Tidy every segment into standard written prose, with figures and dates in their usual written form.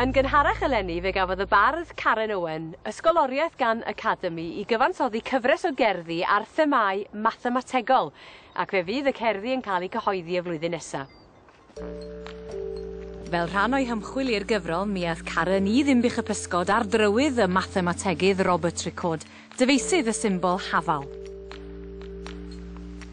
Yn gynharach eleni fe gafodd y bardd Karen Owen ysgoloriaeth gan Academi i gyfansoddi cyfres o gerddi ar themâu mathemategol, ac fe fydd y cerddi yn cael eu cyhoeddi y flwyddyn nesa. Fel rhan o'i hymchwil i'r gyfrol, mi ath Karen i Ddinbych y Pysgod ar drywydd y mathemategydd Robert Recorde, dyfeisydd y symbol hafal.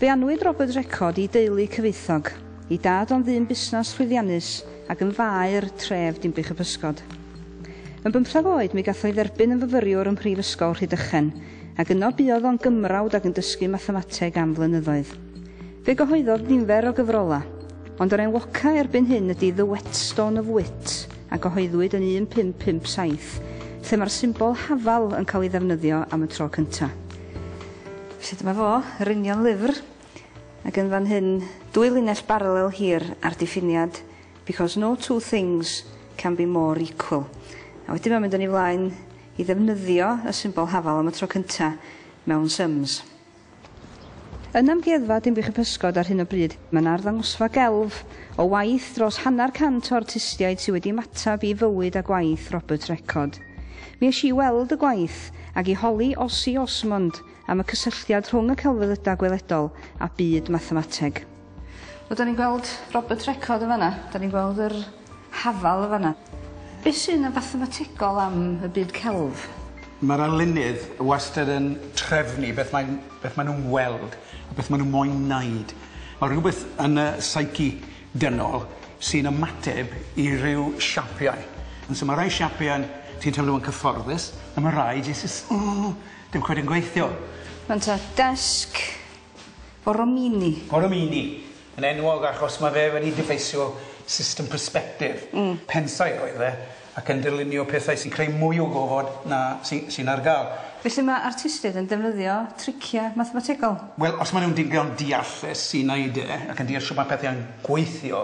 Fe anwyd Robert Recorde i deulu cyfoethog, i dad o'n ddyn busnes llwyddiannus ac yn faer tref Dinbych y Pysgod. Yn 15 oed mi gath o'i dderbyn yn fyfyriwr ym Mhrifysgol Rhydychen, ac yno buodd o'n gymrawd ac yn dysgu mathemateg am flynyddoedd. Fe gyhoeddodd nifer o gyfrola, ond yr enwoca erbyn hyn ydy The Whetstone of Wit, a gyhoeddwyd yn 1557, lle mae'r symbol hafal yn cael ei ddefnyddio am y tro cynta. Felly dyma fo, yr union lyfr, ac yn fan hyn dwy linell baralel hir a'r diffiniad because no two things can be more equal. A wedyn mae'n mynd yn ei flaen i ddefnyddio y symbol hafal am y tro cynta mewn sums. Yn amgueddfa Dinbych y Pysgod ar hyn o bryd, mae'n arddangosfa gelf o waith dros 150 o artistiaid sydd wedi ymateb i fywyd a gwaith Robert Recorde. Mi es i weld y gwaith ac i holi Ossie Osmond am y cysylltiad rhwng y celfyddydau gweledol a byd mathemateg. Wel, da ni'n gweld Robert Recorde yn fanna, da ni'n gweld yr hafal yn fanna. Be sy'n yn fathemategol am y byd celf? Mae'r arlunydd wastad yn trefnu beth mae'n beth maen nhw'n weld a beth maen nhw'n moyn wneud. Mae rhywbeth yn y psyche dynol sy'n ymateb i ryw siapiau. And so mae rai siapiau ti'n teimlo yn cyfforddus, a mae rai jyst, oh, dim cweit yn gweithio. Mae'n ta desg Borromini. Borromini, yn enwog achos mae fe wedi dyfeisio system perspective. Pensaer oedd e, ac yn dylunio pethau sy'n creu mwy o gofod na sy'n sy ar gael. Felly mae artistiaid yn defnyddio triciau mathemategol? Wel, os maen nhw'n digon deallus i wneud e, ac yn deall sut mae pethau'n gweithio,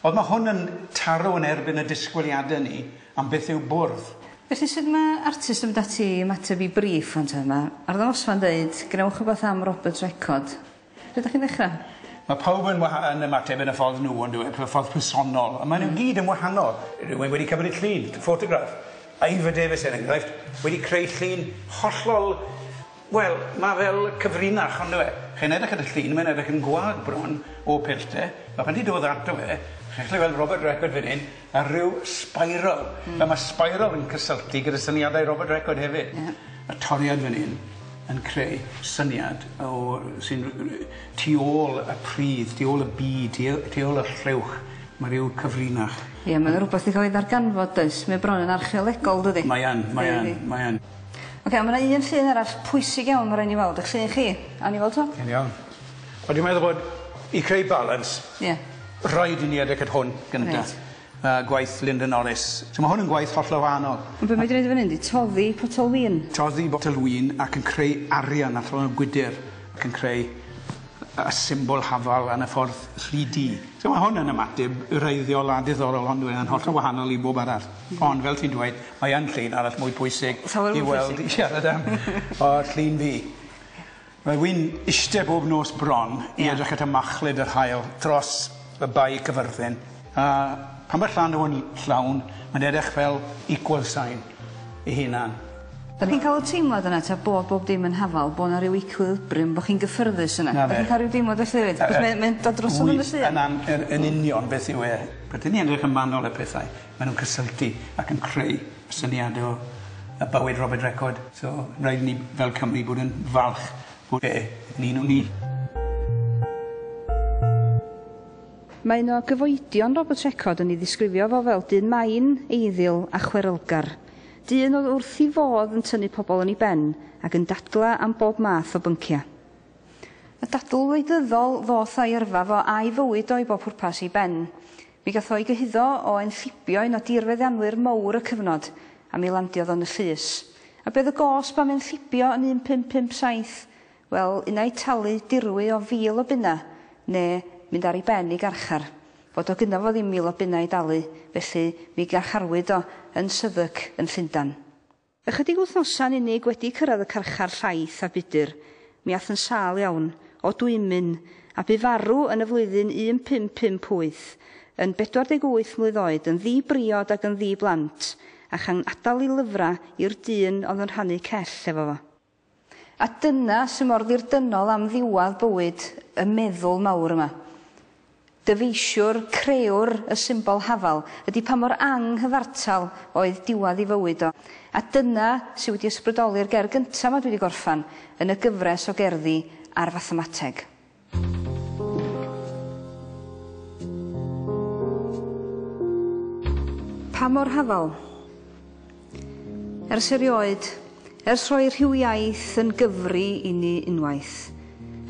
ond mae hwn yn taro yn erbyn y disgwyliadau ni am beth yw bwrdd. Felly sut mae artist yn mynd ati i ymateb i briff ond yma? Arddangosfa'n dweud, gwnewch rhywbeth am Robert Recorde. Lle ydych chi'n ddechrau? Mae pawb yn ymateb yn y ffordd nhw, ond y ffordd personol. A maen nhw gyd yn wahanol. Rhywun wedi cymryd llun, ffotograff. Ivor Davies, er enghraifft, wedi creu llun hollol. Wel, mae fel cyfrinach, ond e. Chi'n edrych ar y llun, mae'n edrych yn gwag bron o pellter. Mae pan ti dod ato fe, chi'n gallu weld Robert Recorde fan hyn, a rhyw spiral. Mae spiral yn cysylltu gyda syniadau Robert Recorde hefyd. Y toriad fan hyn yn creu syniad o sy'n tu ôl y pridd, tu ôl y byd, tu ôl y llewch. Mae rhyw cyfrinach. Ie, mae'n rhywbeth i cael ei ddarganfod, does? Mae bron yn archeolegol, dydi? Mae yn, mae yn, mae yn. Oce, mae yna un llun arall pwysig iawn mae rhaid ni weld. Eich llun chi. A ni weld to? Yn iawn. Ond dwi'n meddwl bod i creu balance, rhaid i ni edrych at hwn gyntaf. Gwaith Linda Norris. So mae hwn yn gwaith hollol wahanol. Ond be mae wedi gwneud fan hyn 'di toddi potel win. Toddi botel win ac yn creu arian allan o'r gwydyr ac yn creu y symbol hafal yn y ffordd 3D. So mae hwn yn ymateb wreiddiol a diddorol, ond yn hollol wahanol i bob arall. Ond fel ti'n dweud, mae yn llun arall mwy pwysig Llawer i mwy weld pwysig. i siarad am o llun fi. Mae wy'n eistedd bob nos bron i edrych at y machlud yr haul dros y bae Cyfyrddin. A pan mae'r llanw yn llawn, mae'n edrych fel equal sign ei hunan. Da chi'n cael y teimlad yna ta bod bob dim yn hafal, bod yna rhyw equilibrium, bod chi'n gyffyrddus yna? Na Da fe. chi'n cael rhyw deimlad felly hefyd? Achos mae'n dod drosodd yn y llun. Yn union beth yw e. Pan ni'n edrych yn manwl y pethau, maen nhw'n cysylltu ac yn creu syniad o y bywyd Robert Recorde. So, rhaid ni fel Cymru bod yn falch bod e yn un o ni. Mae un o gyfoedion Robert Recorde yn ei ddisgrifio fo fel dyn main, eiddil a chwerylgar. Dyn oedd wrth ei fodd yn tynnu pobl yn ei ben ac yn dadla am bob math o bynciau. Y dadl wleidyddol ddoth a'i yrfa fo a'i fywyd o i bob pwrpas i ben. Mi gath o'i gyhuddo o enllibio un o dirfeddianwyr mowr y cyfnod a mi landiodd o'n y llys. A beth y gosb am enllibio yn 1557? Wel, unai talu dirwy o 1,000 o bunna, neu mynd ar ei ben i garchar. Fod o gynno fo ddim 1,000 o bunna i dalu, felly mi garcharwyd o yn Southwark yn Llundan. Ychydig wythnosau'n unig wedi cyrraedd y carchar llaith a budur, mi ath yn sâl iawn, o dwymyn, a bu farw yn y flwyddyn 1558, yn 48 mlwydd oed, yn ddi-briod ac yn ddi-blant, a chan adael ei lyfrau i'r dyn oedd yn rhannu cell efo fo. A dyna sy'n mor ddirdynol am ddiwedd bywyd y meddwl mawr yma. Dyfeisiwr, crëwr y symbol hafal ydy pa mor anghyfartal oedd diwedd ei fywyd o. A dyna sydd wedi ysbrydoli'r gerdd gyntaf ma dwi wedi gorffan yn y gyfres o gerddi ar fathemateg. Pa mor hafal? Ers erioed, ers rhoi rhyw iaith yn gyfri i ni unwaith,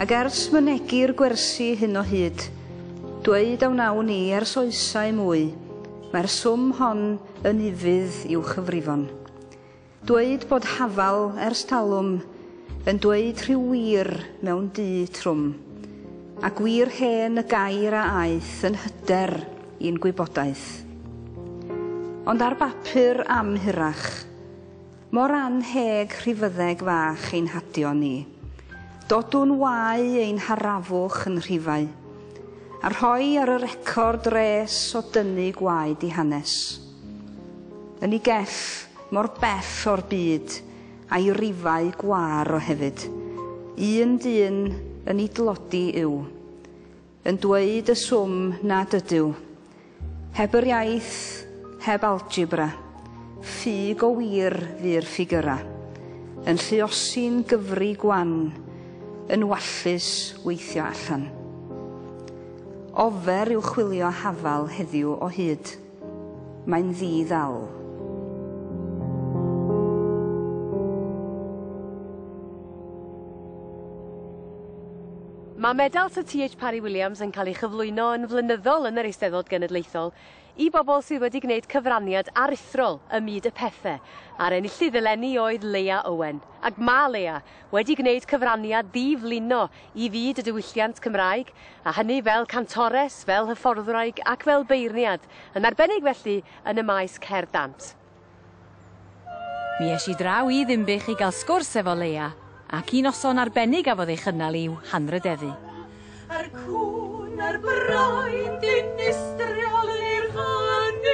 ac ers mynegi'r gwersi hyn o hyd, dweud a wnawn ni ers oesau mwy, mae'r swm hon yn ufudd i'w chyfrifon. Dweud bod hafal ers talwm yn dweud rhyw wir mewn du trwm, a gwir hen y gair a aeth yn hyder i'n gwybodaeth. Ond ar bapur am hirach, mor anheg rhifyddeg fach ein hadio ni. Dodwn wau ein harafwch yn rhifau, a rhoi ar y record res o dynnu gwaed i hanes. Yn ei gell mor bell o'r byd a'i rifau gwar o hefyd. Un dyn yn ei dlodi yw, yn dweud y swm nad ydyw. Heb yr iaith, heb algebra, ffug o wir fu'r ffigyra, yn lluosi'n gyfri gwan, yn wallus weithio allan. Ofer yw chwilio hafal heddiw o hyd. Mae'n ddi-ddal. Mae medal Sir T.H. Parry Williams yn cael ei chyflwyno yn flynyddol yn yr Eisteddfod Genedlaethol i bobl sydd wedi gwneud cyfraniad aruthrol ym myd y pethe, a'r enillydd eleni oedd Leia Owen. Ac mae Leia wedi gwneud cyfraniad ddiflino i fyd y diwylliant Cymraeg, a hynny fel cantores, fel hyfforddwraig ac fel beirniad, yn arbennig felly yn y maes cerdd dant. Mi es i draw i Ddinbych i gael sgwrs efo Leia, ac un noson arbennig gafodd ei chynnal i'w hanrhydeddu. A'r cwn a'r brain dinistriol i'r hynny.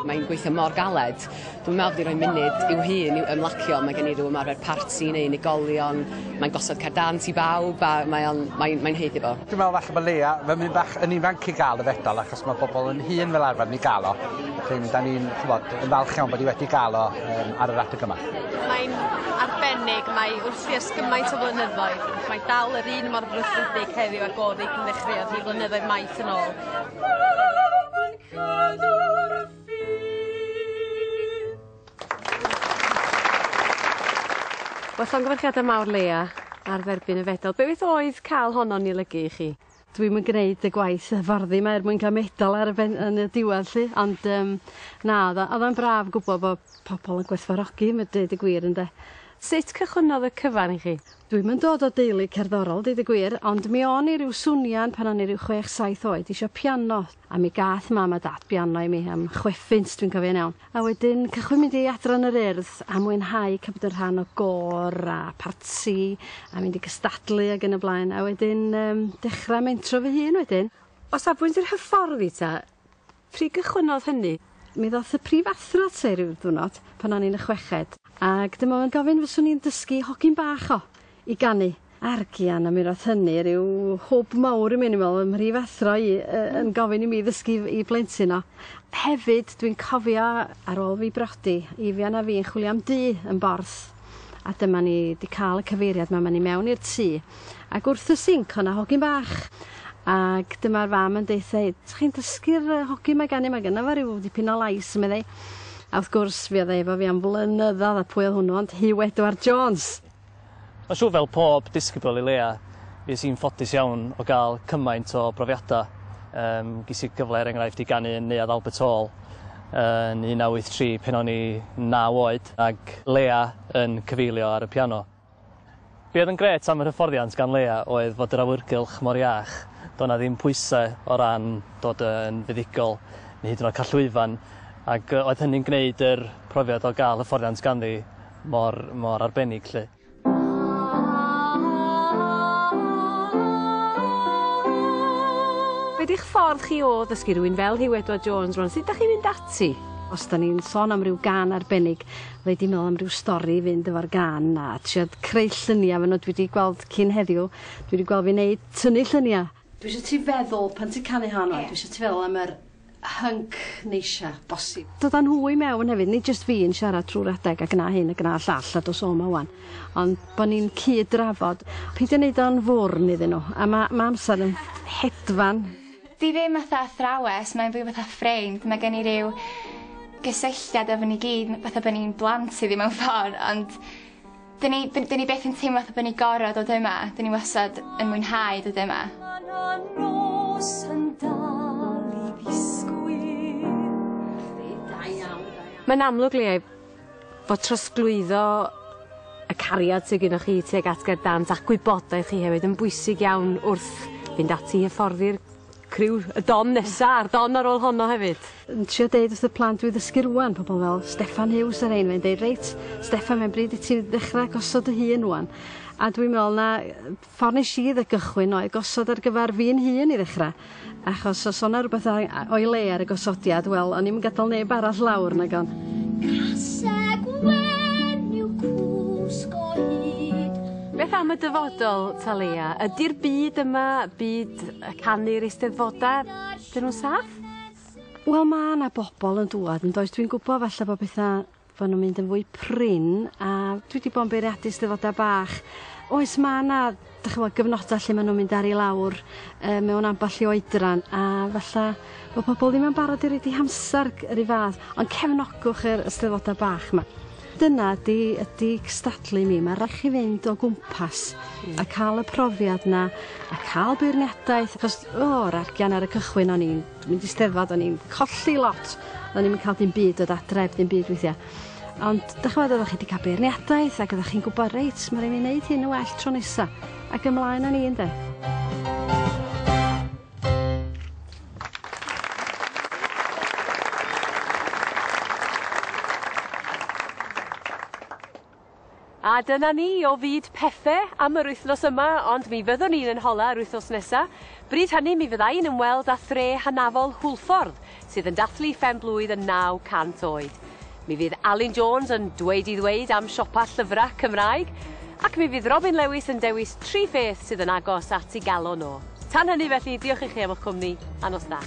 Mae'n gweithio mor galed. Dwi'n meddwl bod hi rhoi munud i'w hun i'w ymlacio. Mae gen i ryw ymarfer parti neu unigolion. Mae'n gosod cerdd dant i bawb a mae'n mae, mae haeddu fo. Dwi'n meddwl falle bod Leia fy mynd bach yn ifanc i gael y fedal achos mae bobl yn hŷn fel arfer yn ei gael o. Felly da ni'n ch'mod, yn falch iawn bod hi wedi gael o ar yr adeg yma. Mae'n arbennig, mae wrthi ers gymaint o flynyddoedd. Mae dal yr un mor frwdfrydig heddiw ag oedd hi cyn ddechreuodd hi flynyddoedd maith yn ôl. Yn cadw'r ffydd. Wel, llongyfarchiadau mawr Leia ar dderbyn y fedal. Be beth oedd cael honno'n ei olygu i chi? Dwi'm yn gwneud y gwaith hyfforddi 'ma er mwyn cael medal ar y ben, yn y diwedd 'lly, ond na, oedd o'n braf gwybod bod pobl yn gwerthfawrogi, mae dweud y gwir ynde. Sut cychwynnodd y cyfan i chi? Dwi'm yn dod o deulu cerddorol, deud y gwir, ond mi o'n i ryw swnian pan o'n i ryw 6-7 oed isio piano, a mi gath mam a dad piano i mi am 6 phint, dwi'n cofio'n iawn. A wedyn cychwyn mynd i adran yr Urdd a mwynhau cael bod yn rhan o gôr a parti a mynd i gystadlu ac yn y blaen, a wedyn dechrau mentro fy hun wedyn. O safbwynt yr hyfforddi ta, pryd gychwynnodd hynny? Mi ddoth y prifathro ata i ryw ddwrnod pan o'n i'n y chweched, ac dyma fo'n gofyn fyswn i'n dysgu hogyn bach o i ganu. Argian, a mi roth hynny ryw hwb mawr i mi, o'n i'n meddwl, 'y mhrifathro i yn gofyn i mi ddysgu i blentyn o. Hefyd, dwi'n cofio ar ôl fi brodi, Ifian a fi yn chwilio am dŷ yn Borth, a dyma ni 'di cael y cyfeiriad 'ma, ma' ni mewn i'r tŷ, ac wrth y sinc o' 'na hogyn bach, ac dyma'r fam yn deutha i, "Dach chi'n dysgu'r hogyn 'ma ganu, ma' gynno fo ryw dipyn o lais," meddai. A wrth gwrs, fuodd e efo fi am flynyddoedd, a pwy oedd hwnnw ond Huw Edward Jones. Mae'n siŵr fel pob disgybl i Leia, fues i'n ffodus iawn o gael cymaint o brofiadau. Ges i gyfle er enghraifft i ganu yn Neuadd Albert Hall yn 1983 pan o'n i 9 oed ac Leia yn cyfeilio ar y piano. Be oedd yn grêt am yr hyfforddiant gan Leia oedd fod yr awyrgylch mor iach. Doedd 'na ddim pwysau o ran dod yn fuddugol neu hyd yn oed cael llwyfan, ac oedd hynny'n gwneud yr profiad o gael hyfforddiant ganddi mor, mor arbennig 'lly. Be 'di'ch ffordd chi o ddysgu rhywun fel Huw Edward Jones rwan? Sut 'dach chi'n mynd ati? Os 'dan ni'n sôn am ryw gân arbennig fydda i 'di meddwl am ryw stori i fynd efo'r gân a trio creu llunia' efo n'w dwi 'di gweld cyn heddiw dwi 'di gweld fi neud tynnu llunia'. Dwi isio ti feddwl pan ti'n canu hon reit dwi isio ti feddwl am yr hync neisia bosib. Dod â nhw i mewn hefyd nid jyst fi yn siarad trw'r adeg a gna hyn a gna llall a dos o 'ma 'wan ond bo' ni'n cyd-drafod. Peidio neud o'n fwrn iddyn nhw a ma' ma' amser yn hedfan. Di ddim fatha athrawes mae'n fwy fatha ffrind ma' gen i ryw gysylltiad efo ni gyd fatha bo' ni'n blant iddi mewn ffor ond 'dyn ni 'dyn ni byth yn teimlo fatha bo' ni gor'o' dod yma 'dyn ni wastad yn mwynhau dod yma. Mae'n amlwg Leah fod trosglwyddo y cariad sy gynnoch chi tuag at gerdd dant a'ch gwybodaeth chi hefyd yn bwysig iawn wrth fynd ati i hyfforddi'r criw y don nesa a'r don ar ôl honno hefyd. Yn trio deud wrth y plant dwi ddysgu rŵan pobol fel Steffan Huws er enghraifft deud reit Steffan mae'n bryd i ti ddechra gosod dy hun rŵan. A dwi'n me'wl na ffor nesh i gychwyn oedd gosod ar gyfar fi'n hun i ddechra achos os o' 'na rwbeth o'i le ar y gosodiad wel o'n i'm yn gadal neb arall lawr nagon? Caseg wen yw cwsg o hyd. Beth am y dyfodol Talea? Ydi'r byd yma, byd y canu'r eisteddfoda, 'dyn nw'n saff? Wel ma' 'na bobol yn dŵad yndoes dwi'n gwbo falle bo' petha bo' nw'n mynd yn fwy prin a dwi 'di bo' yn beirniadu 'steddfoda bach. Oes ma' 'na 'dych ch'mo' gyfnoda lle ma' nw'n mynd ar 'u lawr yy mewn ambell i oedran a falla bo' pobol ddim yn barod i roid 'u hamsar yr un fath ond cefnogwch yr eisteddfoda bach 'ma. Dyna ydi ydi cystadlu i mi ma' rai' chi fynd o gwmpas a ca'l y profiad 'na a ca'l beirniadaeth achos o yr argian ar y cychwyn o'n i'n mynd i steddfod o'n i'n colli lot o'n i'm yn ca'l dim byd dod adre heb dim byd weithia'. Ond 'dych ch'mod oddach chi 'di ca'l beirniadaeth ac oddach chi'n gwbod reit ma' rai' fi neud hyn yn well tro nesa ac ymlaen â ni ynde? A dyna ni o fyd pethe am yr wythnos yma, ond mi fyddwn ni'n yn hola yr wythnos nesa. Bryd hynny mi fydda i'n ymweld â thre hynafol Hwlffordd, sydd yn dathlu phen blwydd yn 900 oed. Mi fydd Alun Jones yn dweud i ddweud am siopa llyfrau Cymraeg, ac mi fydd Robin Lewis yn dewis tri pheth sydd yn agos at ei galon o. Tan hynny felly, diolch i chi am eich cwmni, a nos da.